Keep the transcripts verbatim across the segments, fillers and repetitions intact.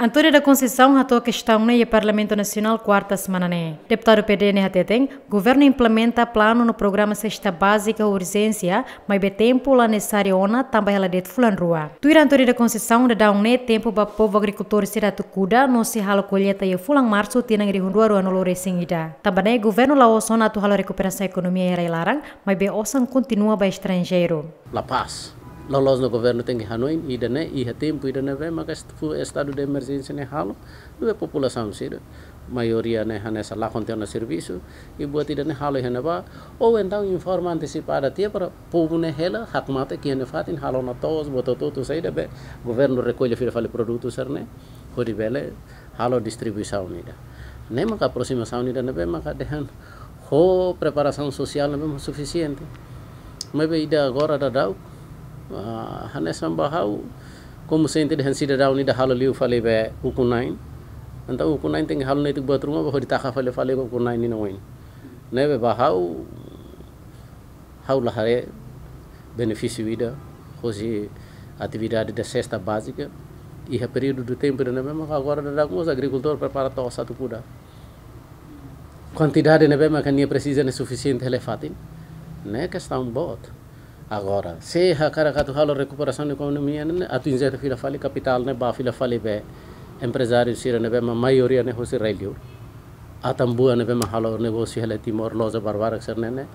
António da Conceição hato'o kestaun ne'e iha Parlamentu Nasionál kuarta semana ne'e. Deputadu P D ne'e hateten, governu implementa planu no programa sesta bázika urjénsia, maibé tempu la nesesáriu ona, tanba hela de'it fulan rua. Tuir António da Conceição, daudaun ne'e tempu ba povu agrikultór sira atu kuda no sei halo kolleita iha fulan Marsu tinan rihun rua ruanulu resin ida. Tanba ne'e governu la'ós ona atu halo rekuperasaun ekonomia iha rai-laran, maibé osan kontinua ba estranjeiru. La paz. Loloos ona governu tenke hanoin ida-ne'e, iha tempu ida-ne'ebé maka est-, fu-, estadu de emerjénsia ne'e halo, ne'ebé populasaun sira maioria ne'e hanesan lakon tiha ona servisu, i buat ida-ne'e halo iha ne'ebá, ou entaun informa antesipada tiha para povu ne'e hela hakmatek iha nia fatin, halo ona to'os, buat hotu-hotu saida be governu rekolla fila fali produtu sira-ne'e, hodi bele halo distribuisaun ida. Ne'e maka aprosimasaun ida ne'ebé maka dehan ho preparasaun sosiál ne'ebé maka sufisiente. Maibé ida agora daudaun, ah, hanesan ba ha'u, komu sente dehan sidadaun ida halo liu fali be ukun-na'in. Entaun ukun-na'in tenke halo netik buat ruma ba hodi taka fali fali ukun-na'in nia oin. Ne'ebé ba ha'u, ha'u la haree benefísiu ida hosi atividade de sesta bázika iha períodu de tempu ida ne'ebé maka agora daudaun mós agrikultór prepara to'os atu kuda. Kuantidade ne'ebé maka nia presiza ne'e sufisiente hela iha fatin. Ne'e kestaun boot. Agora, se hakarak atu halo rekuperasaun ekonomia ne'e, atu injeta fila fali kapitál ne'e ba fila fali be emprezáriu sira ne'ebé mak maioria ne'e hosi rai-li'ur. Atan-buan ne'ebé mak halo negósiu hela Timor, loja barbarak sira-ne'e, ne'e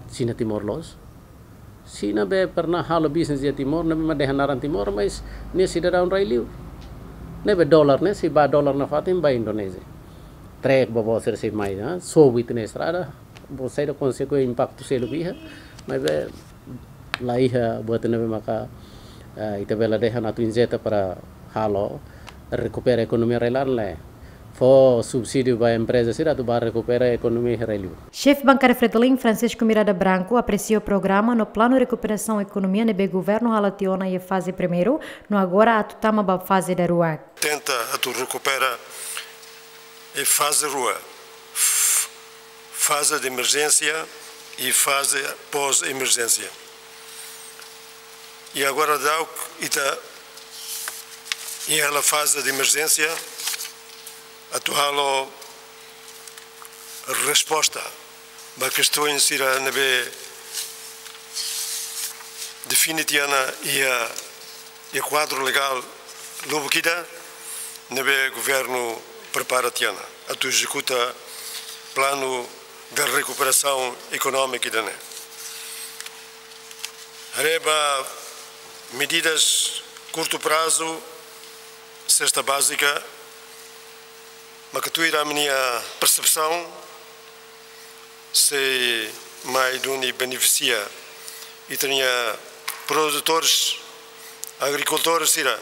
sira-nia Timor-leste. Sira ne'ebé pernah halo bisnis iha Timor, ne'ebé mak dehan naran Timor, mas nia sidadaun rai-li'ur. Ne'ebé dolar ne'e, sei ba dolar nafatin ba Indonézia. Trek boboot sira sei mai, ha? Sobu ita-nia estrada, buat saida konsekuénsia impaktu seluk iha, maibé la iha buat ne'ebé maka, eh, ita bele dehan atu injeta para halo rekupera ekonomia rai-laran, lae. Fó subsídiu ba empreza sira atu ba rekupera ekonomia rai-li'ur. Xefe bankada Fretilin, Francisco Miranda Branco, apresia programa no planu rekuperasaun ekonomia ne'ebé governu hala'o tiha ona iha faze primeiru, no agora atu tama ba faze daruak. Tenta atu rekupera iha faze rua, f-, faze de emerjénsia i faze pós-emerjénsia. I agora daudaun ita iha hela faze de emerjénsia atu halo resposta ba kestaun sira ne'ebé define tiha ona iha, iha kuadru legál lubuk ida ne'ebé governu prepara tiha ona atu ezekuta planu de rekuperasaun ekonómika ida-ne'e. Haree ba medidas kurtu prazu, sesta bázika, maka tuir ami-nia persepsaun, sei mai duni benefisia ita-nia produtores, agrikultór sira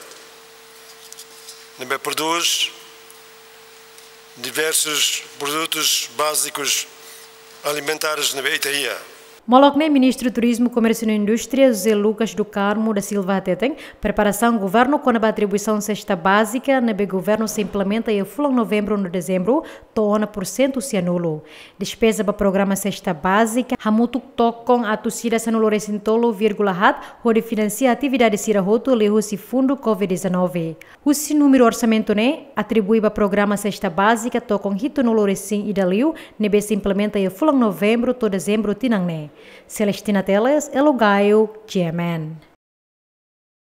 ne'ebé prodús diversos produtos básicos alimentares ne'ebé ita iha. Molok ne'e, Ministru Turizmu, Komérsiu no Indústria, José Lucas do Carmo da Silva hateten, preparasaun governu kona-ba atribuisaun sesta bázika ne'ebé governu sei implementa iha fulan Novembru no Dezembru, to'o ona pursentu sianulu. Despeza ba programa sesta bázika hamutuk tokon atus ida sanulu resin tolu vírgula haat hodi finansia atividade sira hotu liuhusi fundu covid dezanove. Husi númeru orsamentu ne'e, atribui ba programa sesta bázika tokon hitunulu resin ida liu, ne'ebé sei implementa iha fulan Novembru to'o Dezembru tinan ne'e. Celestina Teles, Elo Gaio, G M N.